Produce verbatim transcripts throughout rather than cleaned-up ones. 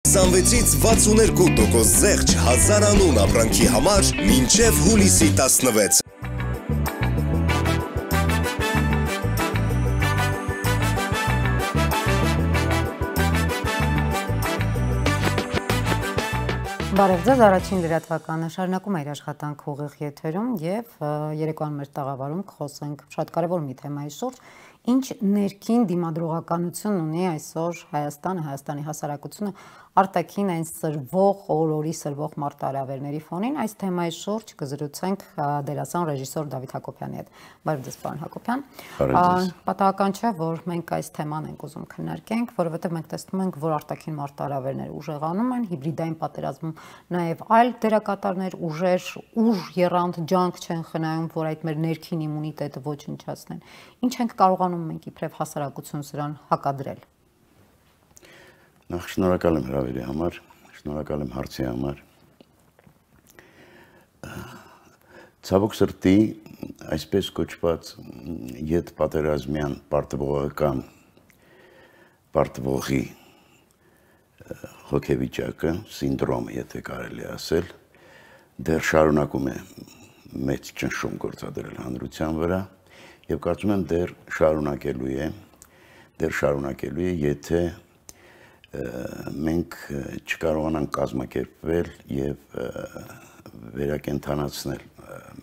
քսանվեցից վաթսուներկու տոկոս զեղչ հազար անուն ապրանքի համար մինչև հուլիսի տասնվեց։ Բարև ձեզ, առաջին լրատվականը շարունակում է իր աշխատանք ուղիղ եթերում եւ երեկոյան մեր տաղավարում կխոսենք շատ կարևոր մի թեմայի շուրջ, ինչ ներքին դիմադրողականություն ունի այսօր Հայաստանը, Հայաստանի հասարակությունը արտաքին այն սրվող, օր-օրի սրվող մարտահրավերների ֆոնին, այս թեմայի շուրջ կզրուցենք դերասան ռեժիսոր Դավիթ Հակոբյանի հետ։ Բարև ձեզ, պարոն Հակոբյան։ Պատահական չէ, որ մենք այս թեման ենք ուզում քննարկենք, որովհետև մենք տեսնում ենք, որ արտաքին մարտահրավերները ուժեղանում են, հիբրիդային պատերազմում նաև այլ դերակատարներ, ուժեր, ուժ եռանդ ջանք չեն խնայում, որ այդ մեր ներքին իմունիտետը ոչնչացնեն։ Ինչ ենք կարողանում մենք իբրև հասարակություն սրան հակադրել։ Նախ շնորհակալ եմ հրավերի համար, շնորհակալ եմ հարցի համար։ Ցավոք սրտի, այսպես կոչված ետ պատերազմյան պարտվողական պարտվողի հոգեվիճակը, սինդրոմը, եթե կարելի ասել, դեռ շարունակում է մեծ ճնշում գործադրել հանրության վրա եւ կարծում եմ դեռ շարունակելու է, դեռ շարունակելու է, եթե մենք չկարողանանք կազմակերպվել եւ վերակենդանացնել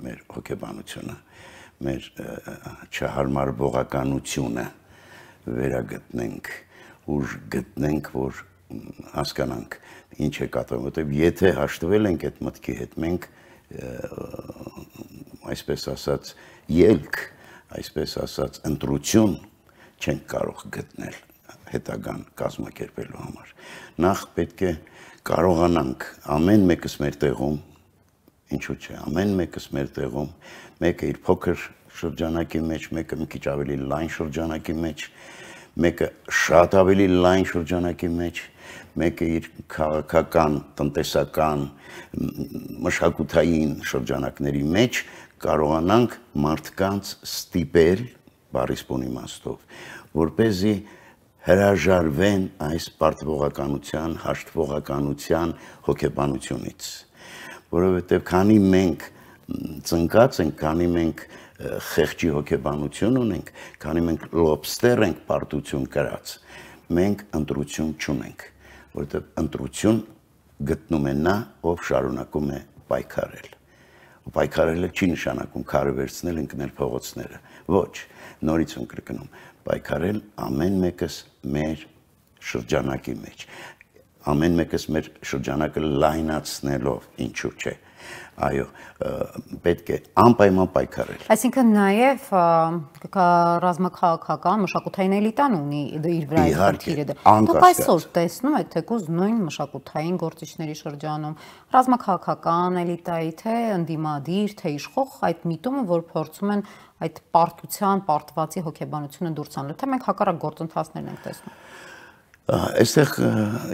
մեր հոգեբանությունը, մեր չհարմարվողականությունը վերագտնենք, ուժ գտնենք, որ հասկանանք ինչ է կատարվում, որտեղ եթե հաշտվել ենք այդ մտքի հետ, մենք այսպես ասած ելք, այսպես ասած ընտրություն չենք կարող գտնել հետագան կազմակերպելու համար։ Նախ պետք է կարողանանք ամեն մեկս մեր տեղում, ինչու՞ չէ, ամեն մեկս մեր տեղում, մեկը իր փոքր շրջանակի մեջ, մեկը մի քիչ ավելի լայն շրջանակի մեջ, մեկը շատ ավելի լայն շրջանակի մեջ, մեկը իր քաղաքական, տնտեսական, մշակութային շրջանակների մեջ կարողանանք մարդկանց ստիպել, բառիսպուն իմաստով, որպեսզի հրաժարվեն այս պարտվողականության, հաշտվողականության հոգեբանությունից, որովհետև քանի մենք ծնկած ենք, քանի մենք խեղճի հոգեբանություն ունենք, քանի մենք լոբստեր ենք պարտություն կրած, մենք ընտրություն չունենք, որովհետև ընտրություն գտնում է նա, ով շարունակում է պայքարել։ Ու պայքարելը չի նշանակում քարը վերցնել, ընկնել փողոցները, ոչ, նորից եմ կրկնում, պայքարել ամեն մեկս մեր շրջանակի մեջ, ամեն մեկս մեր շրջանակը լայնացնելով, ինչու՞ չէ, այո, պետք է անպայման պայքարել։ Այսինքն նաև ռազմաքաղաքական մշակութային էլիտան ունի իր վրա այդ խնդիրը։ Դուք այսօր տեսնում եք թեկուզ նույն մշակութային գործիչների շրջանում ռազմաքաղաքական էլիտայի, թե ընդդիմադիր, թե իշխող այդ միտումը, որ փորձում են այդ պարտության, պարտվածի հոգեբանությունը դուրս հանել, թե մենք հակառակ գործընթացներն ենք տեսնում։ Այստեղ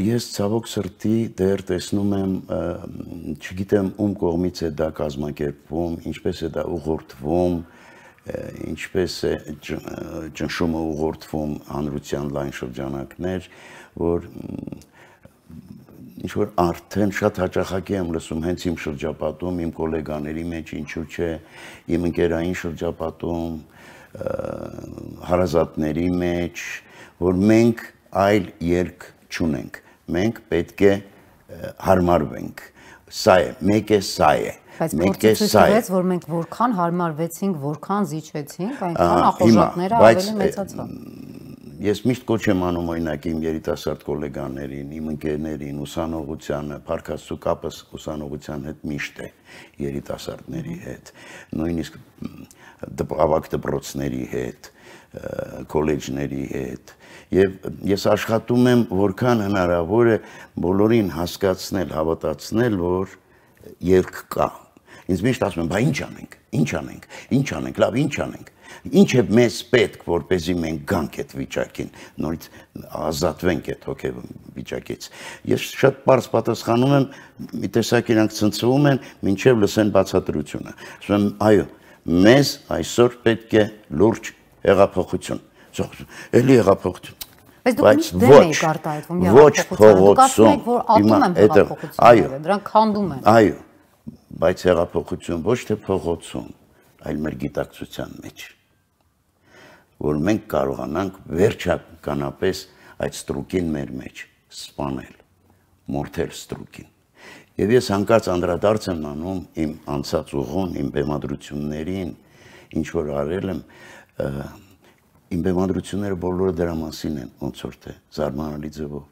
ես ցավոք սրտի դեռ տեսնում եմ, չգիտեմ ում կողմից է դա կազմակերպվում, ինչպես է դա ուղղորդվում, ինչպես է ճնշումը ուղղորդվում հանրության լայն շրջանակներ, որ ինչ-որ արդեն շատ հաճախակի եմ լսում հենց իմ շրջապատում, իմ գոլեգաների մեջ, ինչու՞ չէ, իմ ընկերային շրջապատում, հարազատների մեջ, որ մենք այլ ելք չունենք, մենք պետք է հարմարվենք, սա է, մեկ է սա է, մեկ է սա է, որ մենք որքան հարմարվեցինք, որքան զիջեցինք, այնքան ախորժակները ավելի մեծացան։ Ես միշտ կոչ եմ անում օրինակ իմ երիտասարդ գոլեգաներին, իմ ընկերներին, ուսանողությանը, փառքաստու կապս ուսանողության հետ միշտ է երիտասարդների հետ, նույնիսկ ավագ դպրոցների հետ, քոլեջների հետ, եւ ես աշխատում եմ որքան հնարավոր է բոլորին հասկացնել, հավատացնել, որ ելք կա։ Ինձ միշտ ասում են, բա ինչ անենք, ինչ անենք, ինչ անենք, լավ, ինչ անենք։ Ինչ է մեզ պետք, որպեսզի մենք գանք այդ վիճակին, նորից ազատվենք այդ հոգեվիճակից։ Ես շատ բարձ պատասխանում եմ, մի տեսակ իրանք ցնցվում են, մինչև լսեն բացատրությունը։ Ասում եմ, այո, մեզ այսօր պետք է լուրջ հեղափոխություն։ Էլի հեղափոխություն։ բայց ոչ փողոցում, այո, դրանք քանդում են։ Այո, բայց հեղափոխություն ոչ թե փողոցում, այլ մեր գիտակցության մեջ, որ մենք կարողանանք վերջականապես այդ ստրուկին մեր մեջ սպանել, մորթել ստրուկին։ Եվ ես հանկարծ անդրադարձ եմ անում իմ անցած ուղուն, իմ բեմադրություններին, ինչ որ արել եմ, իմ բեմադրությունները բոլորը դրա մասին են, ոնց որ թե զարմանալի ձևով,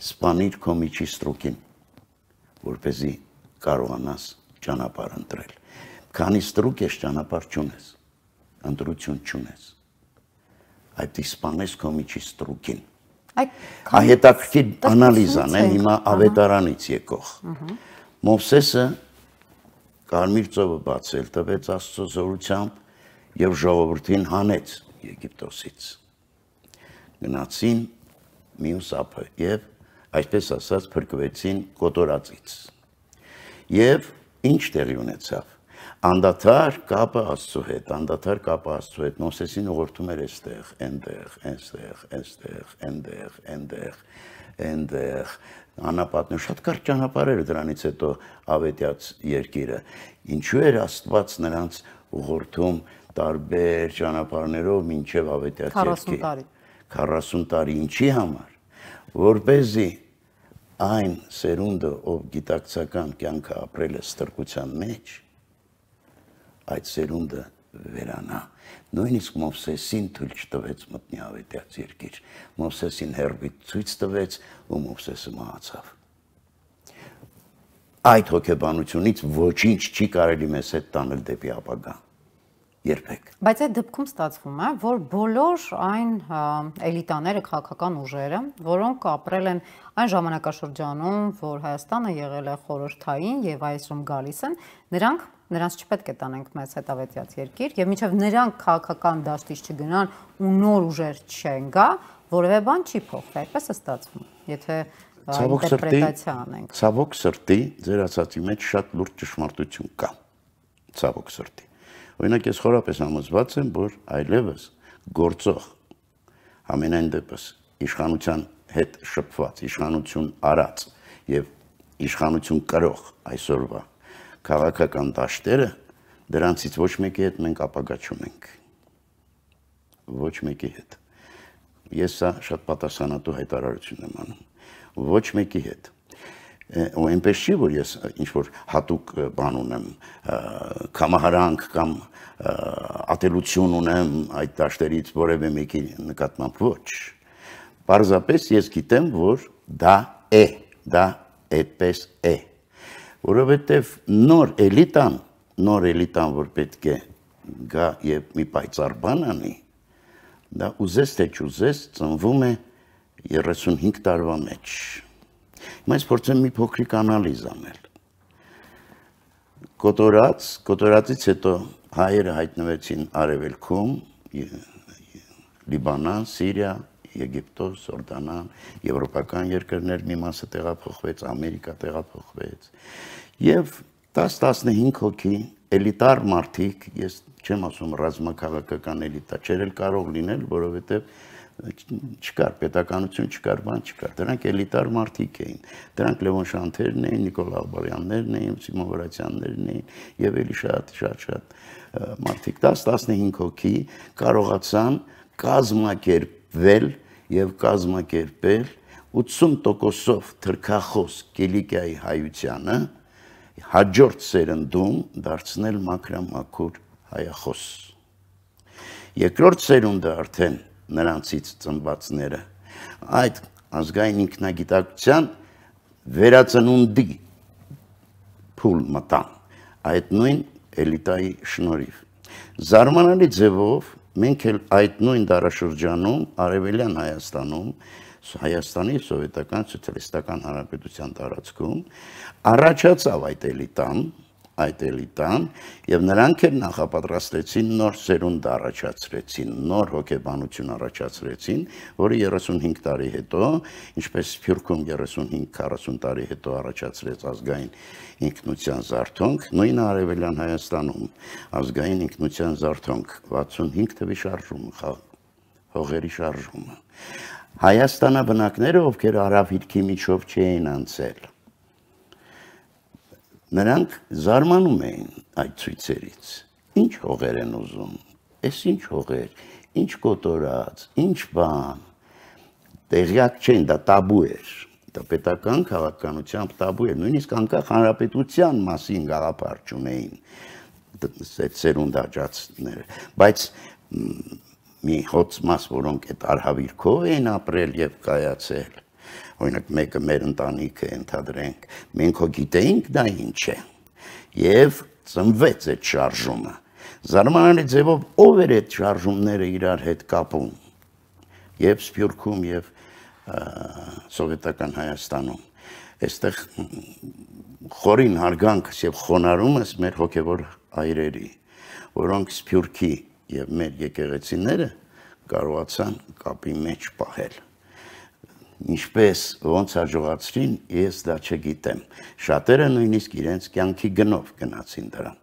սպանիր քո միջի ստրուկին, որպեսզի կարողանաս ճանապարհ ընտրել։ Քանի ստրուկ ես ճանապարհ չունես, ընտրություն չունես, այդ սպանես քո միջի ստրուկին։ Հետաքրքիր անալիզ անեն հիմա ավետարանից եկող։ Մովսեսը Կարմիր ծովը բացել տվեց Աստծո զորությամբ եւ ժողովրդին հանեց Եգիպտոսից։ Գնացին մյուս ափը եւ այսպես ասած փրկվեցին կոտորածից։ Եվ ինչ տեղի ունեցավ։ Անդադար կապը Աստծո հետ, անդադար կապը Աստծո հետ, Մովսեսին ուղղորդում էր այստեղ, այնտեղ, այնտեղ, այնտեղ, այնտեղ, այնտեղ, այնտեղ, անապատն շատ կարճ ճանապարհ էր դրանից հետո ավետյաց երկիրը։ Ինչու էր Աստված նրանց ուղղորդում տարբեր ճանապարհներով մինչև ավետյաց երկիր։ քառասուն տարի, ինչի համար, որպեսզի այն սերունդը, ով գիտակցական կյանքը ապրել է ստրկության մեջ, այդ սերունդը վերանա։ Նույնիսկ Մովսեսին թույլ չտվեց մտնի ավետյաց երկիր։ Մովսեսին հեռվից ցույց տվեց ու Մովսեսը մահացավ։ Այդ հոգեբանությունից ոչինչ չի կարելի մեզ հետ տանել դեպի ապագա։ Երբեք։ Բայց այդ դեպքում ստացվում է, որ բոլոր այն էլիտաները, քաղաքական ուժերը, որոնք ապրել են այն ժամանակաշրջանում, որ Հայաստանը եղել է խորհրդային եւ այսօր գալիս են, նրանք նրանց չպետք է տանենք մեզ հետ ավետյաց երկիր եւ մինչեւ նրանք քաղաքական դաշտից չգնան ու նոր ուժեր չեն գա, որևէ բան չի փոխվի, այդպես է ստացվում։ Եթե ինտերպրետացիա անենք։ Ցավոք սրտի, ձեր ասացի մեջ շատ լուրջ ճշմարտություն կա։ Ցավոք սրտի։ Օրինակ ես խորապես համոզված եմ, որ այլևս գործող ամենայն դեպս իշխանության հետ շփված, իշխանություն արած եւ իշխանություն կրող այսօրվա քաղաքական դաշտերը դրանցից ոչ մեկի հետ մենք ապագա չունենք։ Ոչ մեկի հետ։ Ես սա շատ պատասխանատու հայտարարություն եմ անում։ Ոչ մեկի հետ։ Ու այնպես չի, որ ես ինչ-որ հատուկ բան ունեմ, կամահարանք կամ ատելություն ունեմ այդ դաշտերից որևէ մեկի նկատմամբ ոչ։ Պարզապես ես գիտեմ, որ դա է, դա այդպես է։ Որովհետև նոր էլիտան, նոր էլիտան, որ պետք է գա եւ մի պայծառ բան անի, դա ուզես թե չուզես ծնվում է երեսունհինգ տարվա մեջ։ Հիմա ես փորձեմ մի փոքրիկ անալիզ անել։ Կոտորած, կոտորածից հետո հայերը հայտնվեցին Արևելքում, Լիբանան, Սիրիա, Եգիպտոս, Հորդանան, եվրոպական երկրներ մի մասը տեղափոխվեց, Ամերիկա տեղափոխվեց։ Եվ տասը-տասնհինգ հոգի էլիտար մարդիկ, ես չեմ ասում ռազմաքաղաքական էլիտա, չէր էլ կարող լինել, որովհետև չկար, պետականություն չկար, բան չկար, դրանք էլիտար մարդիկ էին, դրանք Լևոն Շանթերն էին, Նիկոլ Աղբարյաններն էին, Սիմոն Վրացյաններն էին եւ էլի շատ, շատ, շատ մարդիկ, տասը-տասնհինգ հոգի կարողացան կազմակերպվել եւ կազմակերպել ութսուն տոկոսով թրքախոս Կիլիկիայի հայությանը հաջորդ սերնդում դարձնել մաքրամաքուր հայախոս։ Երկրորդ սերունդը արդեն նրանցից ծնվածները այդ ազգային ինքնագիտակցության վերածնունդի փուլ մտան այդ նույն էլիտայի շնորհիվ։ Զարմանալի ձևով մենք էլ այդ նույն դարաշրջանում Արևելյան Հայաստանում, Հայաստանի սովետական սոցիալիստական հանրապետության տարածքում առաջացավ այդ էլիտան, այդ էլիտան եւ նրանք էլ նախապատրաստեցին նոր սերունդ առաջացրեցին, նոր հոգեբանություն առաջացրեցին, որը երեսունհինգ տարի հետո, ինչպես Սփյուռքում երեսունհինգ քառասուն տարի հետո առաջացրեց ազգային ինքնության զարթոնք, նույն Արևելյան Հայաստանում ազգային ինքնության զարթոնք, վաթսունհինգ թվի շարժումը, հողերի շարժումը։ Հայաստանաբնակները, ովքեր Արաբիրքի միջով չէին անցել, նրանք զարմանում էին այդ ցույցերից։ Ինչ հողեր են ուզում, էս ինչ հողեր, ինչ կոտորած, ինչ բան, տեղյակ չեն, դա տաբու էր, դա պետական քաղաքականությամբ տաբու էր, նույնիսկ անկախ հանրապետության մասին գաղափար չունեին սերունդ աճածները, բայց մի հոծ մաս, որոնք այդ արհավիրքով էին ապրել եւ կայացել, օրինակ մեկը մեր ընտանիքը ընդհանրենք, մենք հո գիտեինք դա ինչ է, եւ ծնվեց այդ շարժումը։ Զարմանալի ձևով ով էր այդ շարժումները իրար հետ կապում, եւ Սփյուռքում եւ սովետական Հայաստանում։ Այստեղ խորին հարգանքս եւ խոնարհումս մեր հոգեվոր այրերի, որոնք Սփյուռքի եւ մեր եկեղեցիները կարողացան կապի մեջ պահել։ Ինչպես ոնց հաջողացրին, ես դա չգիտեմ։ Շատերը նույնիսկ իրենց կյանքի գնով գնացին դրան։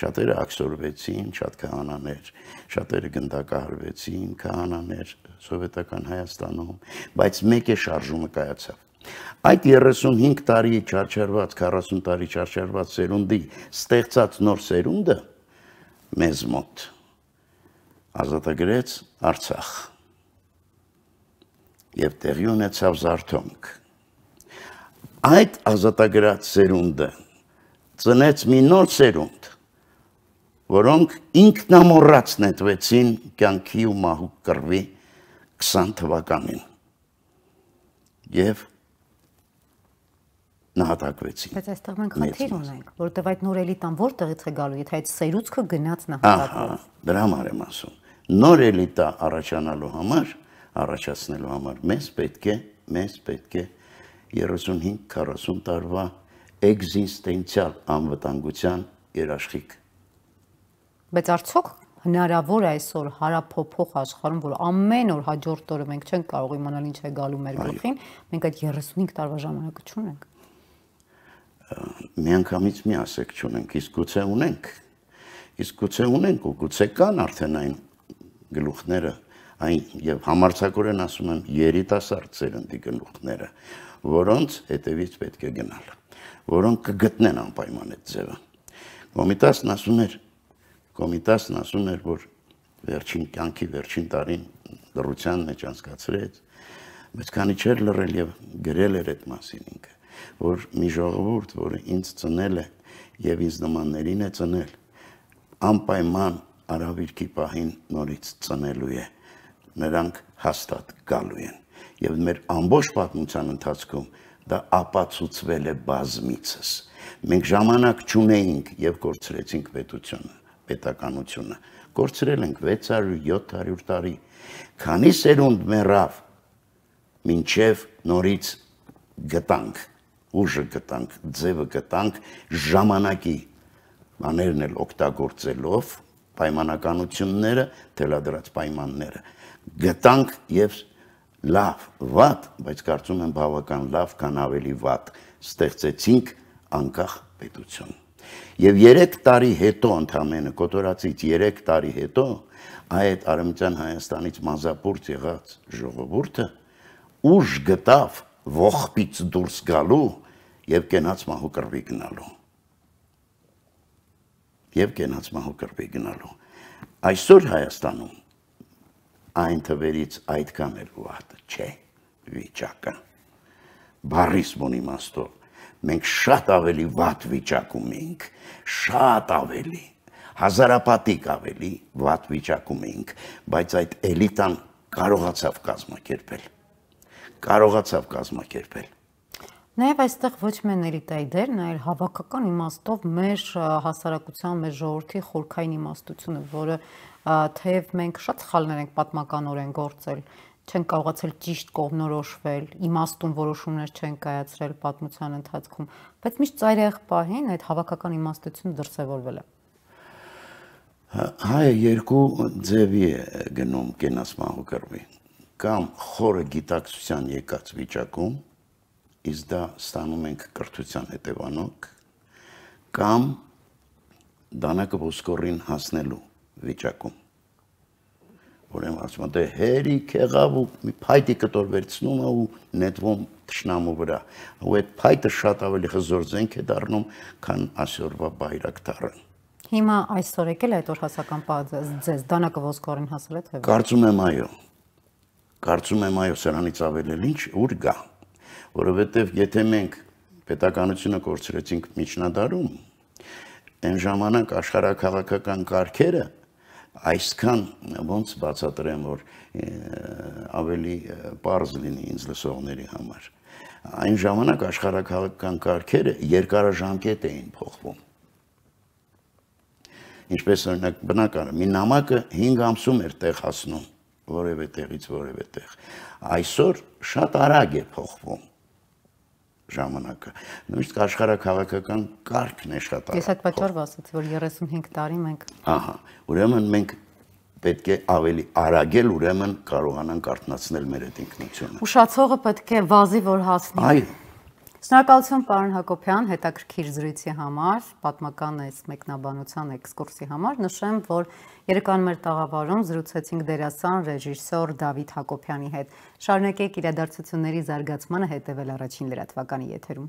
Շատերը աքսորվեցին, շատ քահանաներ, շատերը գնդակահարվեցին, քահանաներ սովետական Հայաստանում, բայց մեկ է շարժումը կայացավ։ Այդ երեսունհինգ տարի չարչարված, քառասուն տարի չարչարված սերունդի ստեղծած նոր սերունդը մեզ մոտ ազատագրեց Արցախ եւ տեղի ունեցավ զարթոնք։ Այդ ազատագրած սերունդը ծնեց մի նոր սերունդ, որոնք ինքնամոռաց նետվեցին կյանքի ու մահու կռվի քսան թվականին եւ նահատակվեցին։ Բայց այստեղ մենք խնդիր ունենք, որովհետեւ այդ նոր էլիտան որտեղից է գալու, եթե այդ սերուցքը գնաց նահատակվեց։ Դրա համար եմ ասում։ Նոր էլիտա առաջանալու համար, առաջացնելու համար մեզ պետք է, մեզ պետք է երեսունհինգ քառասուն տարվա էգզիստենցիալ անվտանգության երաշխիք։ Բայց արդյոք հնարավոր է այսօր հարափոփող աշխարհում, որ ամեն օր հաջորդ օրը մենք չենք կարող իմանալ ինչ է գալու մեր գլխին, մենք այդ երեսունհինգ տարվա ժամանակը չունենք։ Միանգամից մի ասեք չունենք, իսկ գուցե ունենք։ Իսկ գուցե ունենք ու գուցե կան արդեն այն գլուխները, այն եւ համարձակորեն ասում եմ երիտասարդ սերնդի գլուխները, որոնց հետևից պետք է գնալ, որոնք կգտնեն անպայման այդ ձևը։ Կոմիտասն ասում էր, Կոմիտասն ասում էր, որ վերջին կյանքի վերջին տարին լռության մեջ անցկացրեց, բայց քանի չէր լռել եւ գրել էր այդ մասին ինքը, որ մի ժողովուրդ, որը ինձ ծնել է եւ ինձ նմաններին է ծնել, անպայման արհավիրքի պահին նորից ծնելու է, նրանք հաստատ գալու են եւ մեր ամբողջ պատմության ընթացքում դա ապացուցվել է բազմիցս։ Մենք ժամանակ չունեինք եւ կորցրեցինք պետությունը, պետականությունը, կորցրել ենք վեց հարյուր յոթ հարյուր տարի, քանի սերունդ մեռավ, մինչև նորից գտանք, ուժը գտանք, ձևը գտանք, ժամանակի բաներն էլ օգտագործելով, պայմանականությունները, թելադրած պայմանները, գտանք եւ լավ, վատ, բայց կարծում եմ բավական լավ, քան ավելի վատ, ստեղծեցինք անկախ պետություն։ Եվ երեք տարի հետո ընդամենը, կոտորածից երեք տարի հետո, այդ Արևմտյան Հայաստանից մազապուրց եղած ժողովուրդը ուժ գտավ ողբից դուրս գալու եւ կենաց մահու կռվի գնալու։ Եվ կենաց մահու կռվի գնալու։ Այսօր Հայաստանում այն թվերից այդքան էլ վատ չէ վիճակը։ Բառիս բուն իմաստով մենք շատ ավելի վատ վիճակում ենք, շատ ավելի, հազարապատիկ ավելի վատ վիճակում ենք, բայց այդ էլիտան կարողացավ կազմակերպել, կարողացավ կազմակերպել։ Նաև այստեղ ոչ միայն էլիտայի դերն, այլ հավաքական իմաստով մեր հասարակության, մեր ժողովրդի խորքային իմաստությունը, որը թեև մենք շատ սխալներ ենք պատմականորեն գործել, չեն կարողացել ճիշտ կողմնորոշվել, իմաստուն որոշումներ չեն կայացրել պատմության ընթացքում, բայց միշտ ծայրահեղ պահին այդ հավաքական իմաստությունը դրսևորվել է։ Հայը երկու ձևի է գնում կենաց մահու կռվի, կամ խորը գիտակցության եկած վիճակում, իսկ դա ստանում ենք կրթության հետևանոք, կամ դանակը ոսկորին հասնելու վիճակում, ուրեմն ասում եմ, դե հերիք եղավ ու մի փայտի կտոր վերցնում է ու նետվում թշնամու վրա։ Ու այդ փայտը շատ ավելի հզոր զենք է դառնում, քան այսօրվա բայրակտարը։ Հիմա այսօր եկել է այդ օրհասական պահը ձեզ դանակը ոսկորին հասել է թե։ Կարծում եմ այո։ Կարծում եմ այո, սրանից ավել էլ ինչ ուր գա, որովհետև եթե մենք պետականությունը կորցրեցինք միջնադարում, այն ժամանակ աշխարհաքաղաքական կարգերը այսքան ոնց բացատրեմ, որ ավելի պարզ լինի ինձ լսողների համար։ Այն ժամանակ աշխարհաքաղաքական կարգերը երկարաժամկետ էին փոխվում։ Ինչպես օրինակ բնական է, մի նամակը հինգ ամսում էր տեղ հասնում, որևէ տեղից որևէ տեղ։ Այսօր շատ արագ է փոխվում ժամանակը։ Նույնիսկ աշխարհաքաղաքական կարգն է շատ արագ։ Ես այդ պատճառով ասացի, որ երեսունհինգ տարի մենք։ Ահա, ուրեմն մենք պետք է ավելի արագել, ուրեմն կարողանանք արթնացնել մեր այդ ինքնությունը։ Ուշացողը պետք է վազի, որ հասնի։ Այո։ Շնորհակալություն պարոն Հակոբյան, հետաքրքիր զրույցի համար, պատմական այս մեկնաբանության էքսկուրսի համար։ Նշեմ, որ երեկոյան մեր տաղավարում զրուցեցինք դերասան ռեժիսոր Դավիթ Հակոբյանի հետ։ Շարունակեք իրադարձությունների զարգացմանը հետևել Առաջին լրատվականի եթերում։